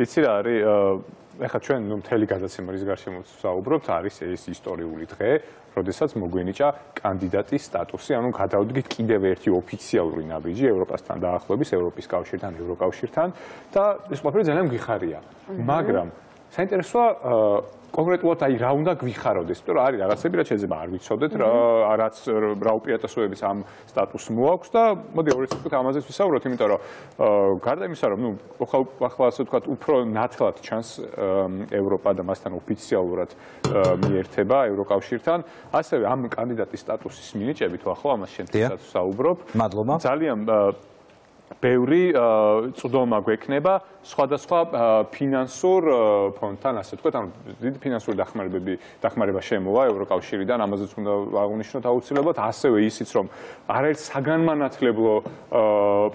იცი რა არის ეხლა ჩვენ მთელი გადაცემა რის გარშემო ვსაუბრობთ არის ეს ისტორიული დღე, როდესაც მოგვენიჭა კანდიდატის სტატუსი, ანუ გადავდგით კიდევ ერთი ოფიციალური ნაბიჯი ევროპასთან დაახლოების, ევროპის კავშირთან, ევროკავშირთან და ეს ყველაფერი ძალიან გვიხარია. მაგრამ საინტერესოა კონკრეტულად აი რა უნდა გვიხაროდეს, იმიტომ რომ არის რაღაცები, რაც შეიძლება არ ვიცოდეთ, რა უპირატესობების ამ სტატუსს მოაქვს და მოდი ორი სიტყვით ამაზეც ვისაუბროთ, იმიტომ რომ გარდა იმისა, რომ ახლა ასე ვთქვათ, უფრო ნათლად ჩანს ევროპა და მასთან ოფიციალურად მიერთება ევროკავშირთან, ასევე ამ კანდიდატის სტატუსის მინიჭებით ახლა ამას შემთხვევით ვსაუბრობ. მადლობა. ძალიან ბევრი წვდომა გვექნება სხვადასხვა ფინანსურ ფონდთან, ასე ვთქვათ, ანუ დიდი ფინანსური დახმარება შემოვა ევროკავშირიდან, ამაზეც უნდა აღვნიშნოთ აუცილებლად, ასევე ისიც, რომ არაერთ საგანმანათლებლო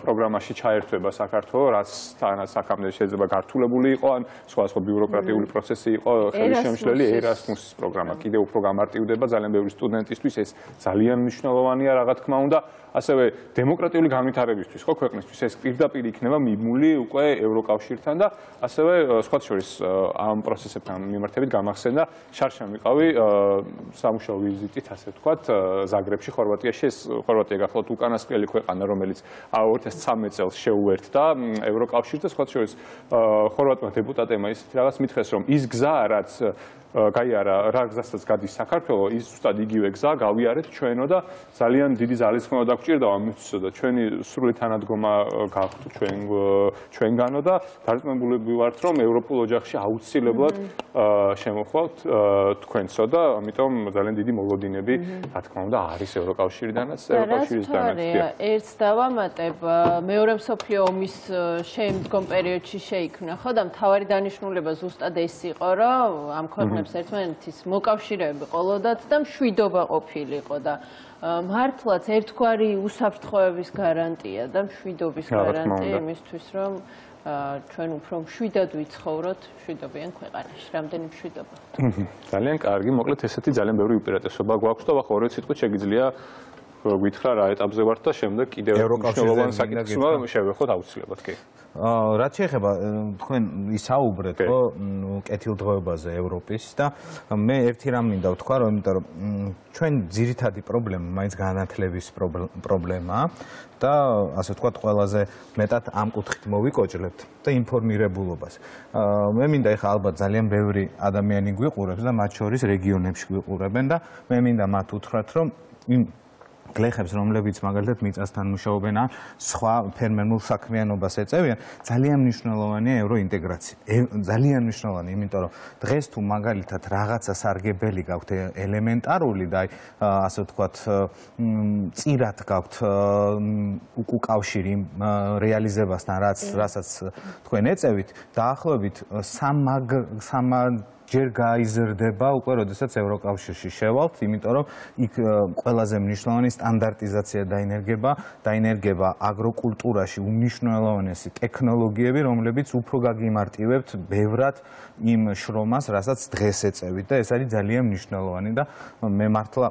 პროგრამაში ჩაერთვება საქართველო, რაც აქამდე შეიძლება გართულებული იყო, ან სხვადასხვა ბიუროკრატიული პროცესი იყო ხელშემშლელი ერასმუსის პროგრამა. კიდევ უფრო გამარტივდება ძალიან ბევრი სტუდენტისთვის, ეს ძალიან მნიშვნელოვანია, რა თქმა უნდა. ასევე დემოკრატიული განვითარებისთვის, ხო, ქვეყნისთვის ეს პირდაპირ იქნება მიმული უკვე ევროკავშირთან და ასევე სხვა შორის ამ პროცესებთან მიმართებით გამახსენდა შარშან ვიყავი სამუშაო ვიზიტით, ასე ვთქვათ, ზაგრებში, ხორვატიაში. ეს ხორვატია გახლავთ უკანასკნელი ქვეყანა, რომელიც 2013 წელს შეუერთდა ევროკავშირს და სხვა შორის ხორვატმა დეპუტატებმა ისეთი რაღაც მითხრეს, რომ ის გზა, რაც გაიარა, რა გზასაც გადის საქართველო, ის ზუსტად იგივე გზა გავიარეთ ჩვენო და ძალიან დიდი ძალისხმევა დაგვჭირდა ამისთვის და ჩვენი სრული თანადგომა გაქვთ ჩვენგანო და დარწმუნებული ვართ, რომ ევროპულ ოჯახში აუცილებლად შემოხვალთ თქვენსო და ამიტომ ძალიან დიდი მოლოდინები, რა თქმა უნდა, არის ევროკავშირიდანაც, ევროკავშირისგანაც. ერთს დავამატებ, მეორე მსოფლიო ომის შემდგომ პერიოდში შეიქმნა, ხო და მთავარი დანიშნულება ზუსტად ეს იყო, რომ ამ ქვეყნებს ერთმანეთის მოკავშირეები ყოლოდათ და მშვიდობა ყოფილიყო და მართლაც ერთგვარი უსაფრთხოების გარანტია და მშვიდობის გარანტია იმისთვის, რომ ჩვენ უფრო მშვიდად ვიცხოვროთ მშვიდობიან ქვეყანაში. რამდენი მშვიდობა. ძალიან კარგი, მოკლედ ესეთი ძალიან ბევრი უპირატესობა გვაქვს და ახლა ორი სიტყვით შეგიძლია გითხრა რა ეტაპზე ვართ და შემდეგ კიდევ მნიშვნელოვან საკითხს შევეხოთ აუცილებლად კი. რაც შეეხება თქვენ ისაუბრეთ ხო კეთილდღეობაზე ევროპის და მე ერთი რამ მინდა ვთქვა რომ იმიტომ რომ ჩვენ ძირითადი პრობლემა მაინც განათლების პრობლემაა და ასე ვთქვათ ყველაზე მეტად ამ კუთხით მოვიკოჭლებთ და ინფორმირებულობას. მე მინდა ეხლა ალბათ ძალიან ბევრი ადამიანი გვიყურებს და მათ შორის რეგიონებში გვიყურებენ და მე მინდა მათ უთხრათ რომ გლეხებს, რომლებიც მაგალითად მიწასთან მუშაობენ ან სხვა ფერმერულ საქმიანობას ეწევიან, ძალიან მნიშვნელოვანია ევროინტეგრაცია. ძალიან მნიშვნელოვანია, იმიტომ რომ დღეს თუ მაგალითად რაღაცა სარგებელი გაქვთ ელემენტარული და ასე ვთქვათ, წირად გაქვთ უკავშირი რეალიზებასთან, რასაც თქვენ ეწევით, დაახლოებით ჯერ გაიზრდება უკვე, როდესაც ევროკავშირში შევალთ, იმიტომ რომ იქ ყველაზე მნიშვნელოვანი სტანდარტიზაცია დაინერგება აგროკულტურაში უმნიშვნელოვანესი ტექნოლოგიები, რომლებიც უფრო გაგიმარტივებთ ბევრად იმ შრომას, რასაც დღეს ეწევით და ეს არის ძალიან მნიშვნელოვანი და მე მართლა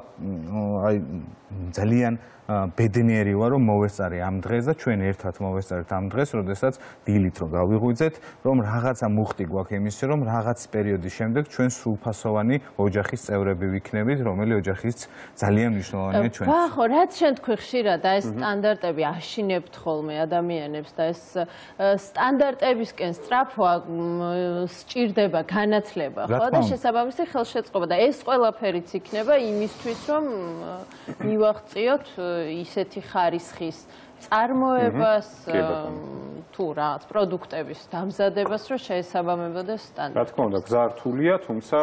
ძალიან ბედნიერი ვარ, რომ მოვესწარე ამ დღეს და ჩვენ ერთად მოვესწარეთ ამ დღეს, როდესაც დილით რომ გავიღვიძეთ, რომ რაღაცა მუხტი გვაქვს იმის, რომ რაღაც პერიოდის შემდეგ ჩვენ სრულფასოვანი ოჯახის წევრები ვიქნებით, რომელი ოჯახიც ძალიან მნიშვნელოვანია ჩვენთვის. ხო, რაც შენ თქვი ხშირად და ეს სტანდარტები აშინებთ ხოლმე ადამიანებს და ეს სტანდარტებისკენ სწრაფვა სჭირდება განათლება, ხო და შესაბამისი ხელშეწყობა და ეს ყველაფერიც იქნება იმისთვის, რომ მივაღწიოთ ისეთი ხარისხის წარმოებას თუ რაღაც პროდუქტების დამზადებას, რომ შეესაბამებოდეს სტანდარტებს. რა თქმა უნდა, გზა რთულია, თუმცა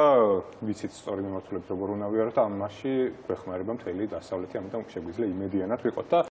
ვიცით სწორი მიმართულებით როგორ უნდა ვიაროთ, ამაში გვეხმარება მთელი დასავლეთი, ამიტომ შეგვიძლია იმედიანად ვიყოთ და